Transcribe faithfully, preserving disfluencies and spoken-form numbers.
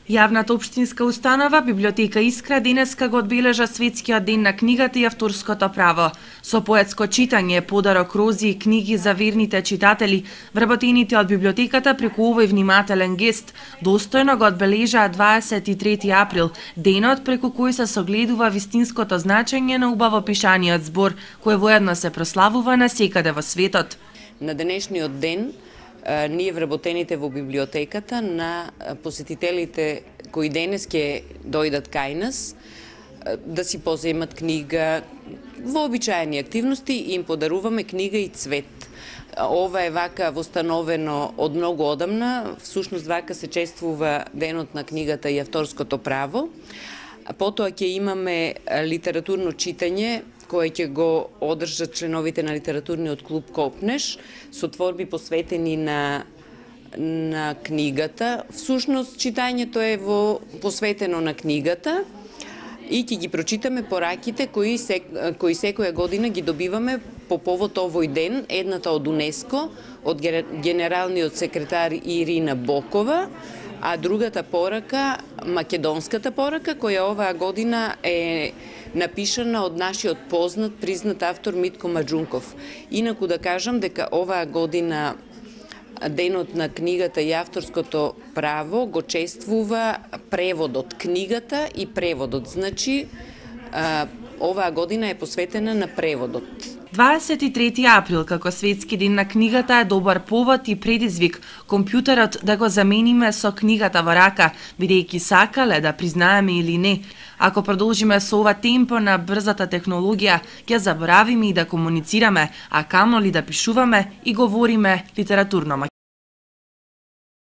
Јавната општинска установа библиотека Искра денеска го одбележа светскиот ден на книгата и авторското право. Со поетско читање, подарок рози и книги за верните читатели, вработените од библиотеката преку овој внимателен гест, достојно го одбележаа дваесет и трети април, денот преку кој се согледува вистинското значење на убаво пишаниот збор, кој воедно се прославува насекаде во светот. На денешниот ден ние вработените во библиотеката на посетителите кои денес ќе дојдат кај нас да си поземат книга, вообичаени активности и им подаруваме книга и цвет. Ова е вака востановено од многу одамна, всушност вака се чествува денот на книгата и авторското право. Потоа ќе имаме литературно читање кој ќе го одржат членовите на литературниот клуб Копнеш со творби посветени на на книгата. Всушност читањето е во посветено на книгата и ќе ги прочитаме пораките кои се, кои секоја година ги добиваме по повод овој ден, едната од УНЕСКО, од генералниот секретар Ирина Бокова, а другата порака, македонската порака, која оваа година е напишана од нашиот познат, признат автор Митко Маџунков. Инаку да кажам дека оваа година денот на книгата и авторското право го чествува преводот, книгата и преводот. Значи, оваа година е посветена на преводот. дваесет и трети април како светски ден на книгата е добар повод и предизвик компјутерот да го замениме со книгата во рака, бидејќи сакале да признаеме или не. Ако продолжиме со ова темпо на брзата технологија, ќе заборавиме и да комуницираме, а камо ли да пишуваме и говориме литературно.